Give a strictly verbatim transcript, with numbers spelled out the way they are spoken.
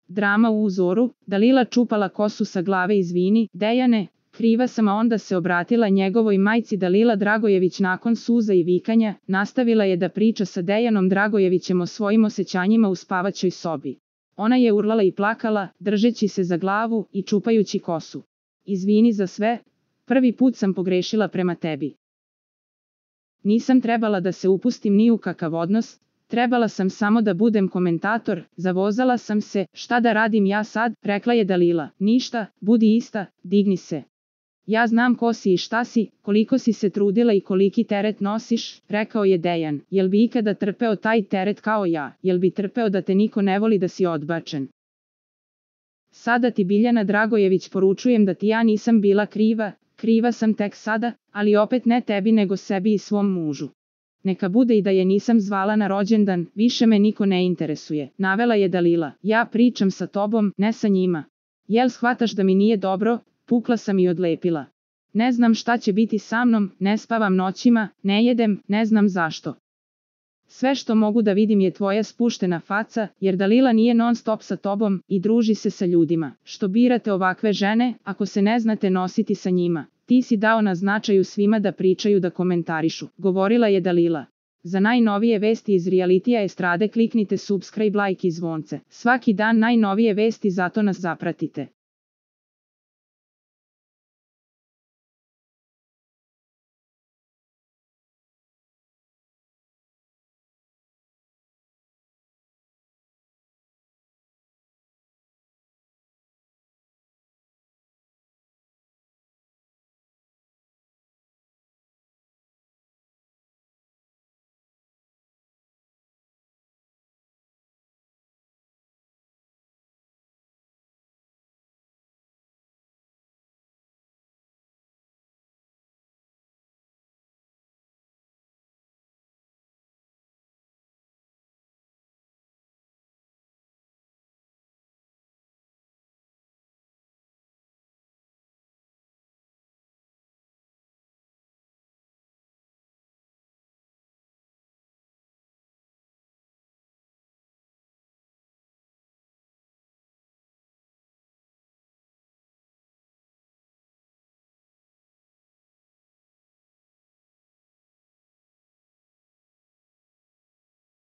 Drama u uzoru, Dalila čupala kosu sa glave. Izvini, Dejane, kriva sam, a onda se obratila njegovoj majci. Dalila Dragojević nakon suza i vikanja, nastavila je da priča sa Dejanom Dragojevićem o svojim osjećanjima u spavaćoj sobi. Ona je urlala i plakala, držeći se za glavu i čupajući kosu. Izvini za sve, prvi put sam pogrešila prema tebi. Nisam trebala da se upustim ni u kakav odnos, trebala sam samo da budem komentator, zavozala sam se, šta da radim ja sad, rekla je Dalila. Ništa, budi ista, digni se. Ja znam ko si i šta si, koliko si se trudila i koliki teret nosiš, rekao je Dejan. Jel bi ikada trpeo taj teret kao ja, jel bi trpeo da te niko ne voli, da si odbačen? Sada ti, Biljana Dragojević, poručujem da ti ja nisam bila kriva, kriva sam tek sada, ali opet ne tebi nego sebi i svom mužu. Neka bude i da je nisam zvala na rođendan, više me niko ne interesuje, navela je Dalila. Ja pričam sa tobom, ne sa njima. Jel shvataš da mi nije dobro? Pukla sam i odlepila. Ne znam šta će biti sa mnom, ne spavam noćima, ne jedem, ne znam zašto. Sve što mogu da vidim je tvoja spuštena faca, jer Dalila nije non stop sa tobom i druži se sa ljudima. Što birate ovakve žene, ako se ne znate nositi sa njima? Ti si dao na značaju svima da pričaju, da komentarišu, govorila je Dalila. Za najnovije vesti iz realitija estrade kliknite subscribe, like i zvonce. Svaki dan najnovije vesti, zato nas zapratite.